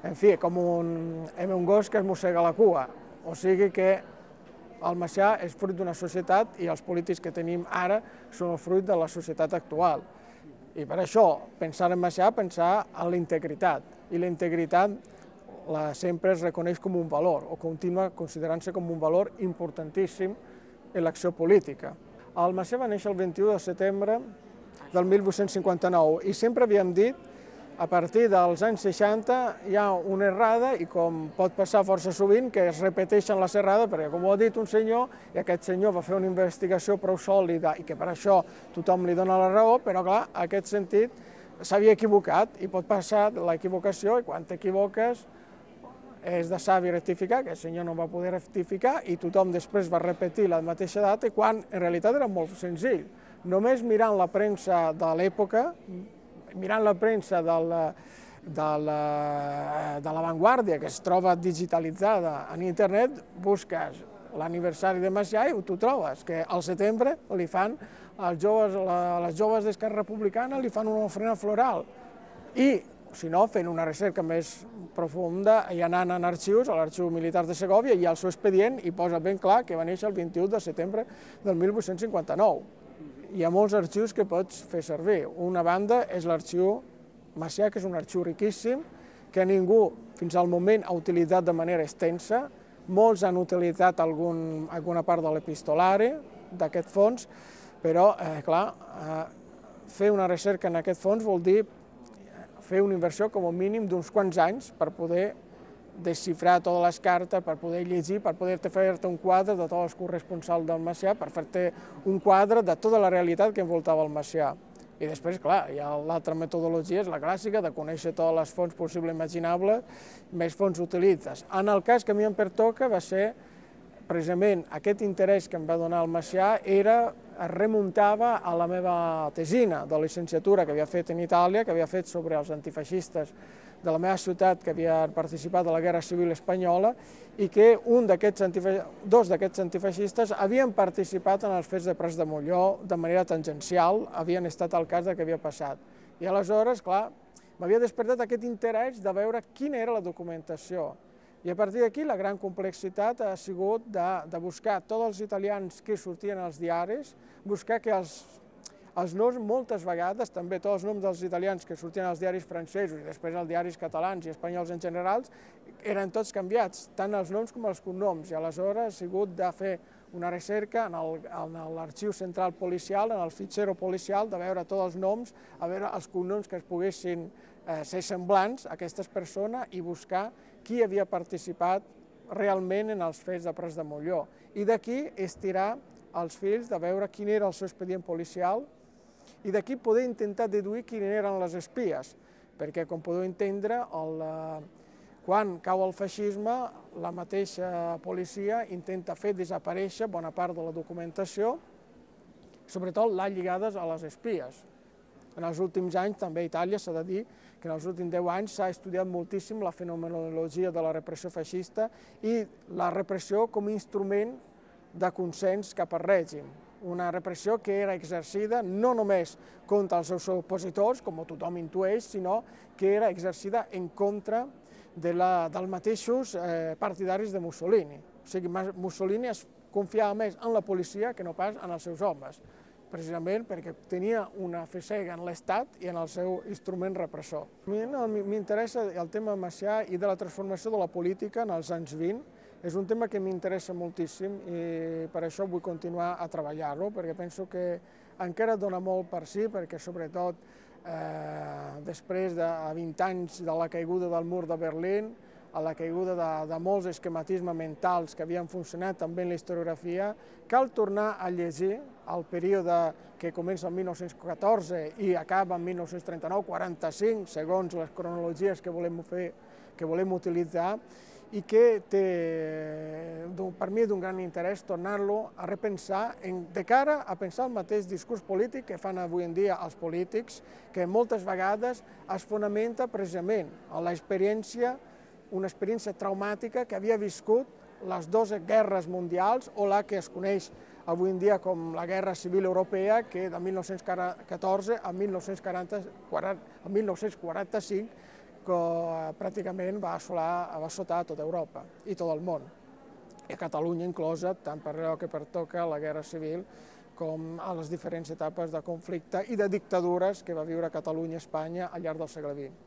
en fi, com un gos que es mossega la cua. O sigui que el Macià és fruit d'una societat i els polítics que tenim ara són el fruit de la societat actual. I per això, pensar en Macià, pensar en la integritat. I la integritat sempre es reconeix com un valor, o continua considerant-se com un valor importantíssim en l'acció política. El Macià va néixer el 21 de setembre del 1859 i sempre havíem dit, a partir dels anys 60 hi ha una errada i com pot passar força sovint que es repeteixen les errades perquè com ho ha dit un senyor i aquest senyor va fer una investigació prou sòlida i que per això tothom li dona la raó, però clar, en aquest sentit s'havia equivocat i pot passar l'equivocació i quan t'equivoques és de savi rectificar, que el senyor no va poder rectificar i tothom després va repetir la mateixa data quan en realitat era molt senzill. Només mirant la premsa de l'època, mirant la premsa de l'avantguàrdia que es troba digitalitzada en internet, busques l'aniversari de Macià i tu trobes que al setembre li fan, les joves d'Esquerra Republicana li fan una ofrena floral i, si no, fent una recerca més profunda i anant en arxius, a l'Arxiu Militar de Segòvia i al seu expedient i posa ben clar que va néixer el 21 de setembre del 1859. Hi ha molts arxius que pots fer servir. Una banda és l'arxiu Macià, que és un arxiu riquíssim, que ningú fins al moment ha utilitzat de manera extensa. Molts han utilitzat alguna part de l'epistolari d'aquest fons, però, clar, fer una recerca en aquest fons vol dir fer una inversió com a mínim d'uns quants anys per poder desxifrar totes les cartes, per poder llegir, per poder-te fer-te un quadre de tots els corresponsals del Macià, per fer-te un quadre de tota la realitat que envoltava el Macià. I després, clar, hi ha l'altra metodologia, és la clàssica, de conèixer totes les fonts possibles i imaginables, més fonts utilitzes. En el cas que a mi em pertoca va ser, precisament, aquest interès que em va donar el Macià es remuntava a la meva tesina de licenciatura que havia fet en Itàlia, que havia fet sobre els antifeixistes de la meva ciutat que havien participat a la Guerra Civil Espanyola i que dos d'aquests antifeixistes havien participat en els fets de Prats de Molló de manera tangencial, havien estat al cas del que havia passat. I aleshores, clar, m'havia despertat aquest interès de veure quina era la documentació. I a partir d'aquí la gran complexitat ha sigut de buscar tots els italians que sortien als diaris, buscar que els noms moltes vegades, també tots els noms dels italians que sortien als diaris francesos i després als diaris catalans i espanyols en general, eren tots canviats, tant els noms com els cognoms, i aleshores ha sigut de fer una recerca en l'arxiu central policial, en el fitxero policial, de veure tots els noms, a veure els cognoms que es poguessin ser semblants a aquestes persones i buscar qui havia participat realment en els fets de Prats de Molló. I d'aquí estirar els fils de veure quin era el seu expedient policial i d'aquí poder intentar deduir quines eren les espies, perquè, com podeu entendre, quan cau el feixisme, la mateixa policia intenta fer desaparèixer bona part de la documentació, sobretot les lligades a les espies. En els últims anys, també a Itàlia, s'ha de dir que en els últims 10 anys s'ha estudiat moltíssim la fenomenologia de la repressió feixista i la repressió com a instrument de consens cap al règim. Una repressió que era exercida no només contra els seus opositors, com tothom intueix, sinó que era exercida en contra dels mateixos partidaris de Mussolini. O sigui, Mussolini es confiava més en la policia que no pas en els seus homes, precisament perquè tenia una fe cega en l'Estat i en el seu instrument repressor. A mi m'interessa el tema Macià i de la transformació de la política en els anys 20. És un tema que m'interessa moltíssim i per això vull continuar a treballar-lo, perquè penso que encara dona molt per si, perquè sobretot després de 20 anys de la caiguda del mur de Berlín, a la caiguda de molts esquematismes mentals que havien funcionat també en la historiografia, cal tornar a llegir el període que comença en 1914 i acaba en 1939-45, segons les cronologies que volem utilitzar, i que té, per mi, d'un gran interès tornar-lo a repensar de cara a pensar el mateix discurs polític que fan avui en dia els polítics, que moltes vegades es fonamenta precisament en l'experiència, una experiència traumàtica que havia viscut les dues guerres mundials o la que es coneix avui en dia com la Guerra Civil Europea, que de 1914 a 1945 que pràcticament va assotar tota Europa i tot el món, i a Catalunya inclosa, tant per allò que pertoca a la Guerra Civil com a les diferents etapes de conflicte i de dictadures que va viure Catalunya i Espanya al llarg del segle XX.